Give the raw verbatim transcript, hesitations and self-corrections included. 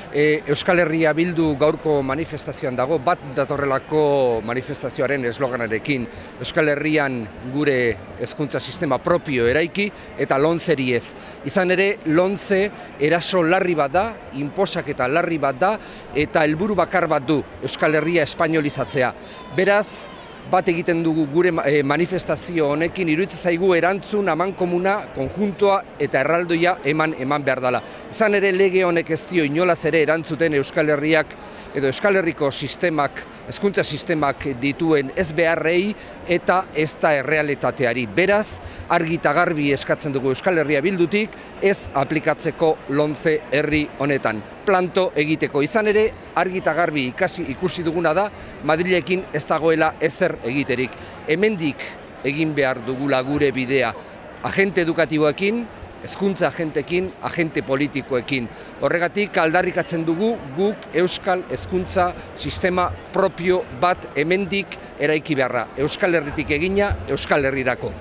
E, Euskal Herria Bildu gaurko manifestazioan dago, bat datorrelako manifestazioaren esloganarekin. Euskal Herrian gure hezkuntza sistema propio eraiki eta lomceri ez. Izan ere, lomce eraso larri bat da, inposaketa larri bat da, eta helburu bakar bat du Euskal Herria espainolizatzea. Beraz, bat egiten dugu gure manifestazio honekin, iruditzen zaigu erantzun amankomuna, konjuntoa eta erraldoia eman eman behar dela. Izan ere lege honek ez dio inolaz ere erantzuten Euskal Herriak edo Euskal Herriko sistemak, hezkuntza sistemak dituen ez beharrei eta ez da errealitateari. Beraz, argi eta garbi eskatzen dugu Euskal Herria Bildutik ez aplikatzeko lomce herri honetan. Planto egiteko. Izan ere, argi eta garbi ikasi ikusi duguna da, Madrilekin ez dagoela ezer egiterik. Hemendik egin behar dugula gure bidea, agente edukatiboekin, hezkuntza agentekin, agente politikoekin. Horregatik aldarrikatzen dugu guk euskal hezkuntza sistema propio bat hemendik eraiki beharra. Euskal Herritik egina, Euskal Herrirako.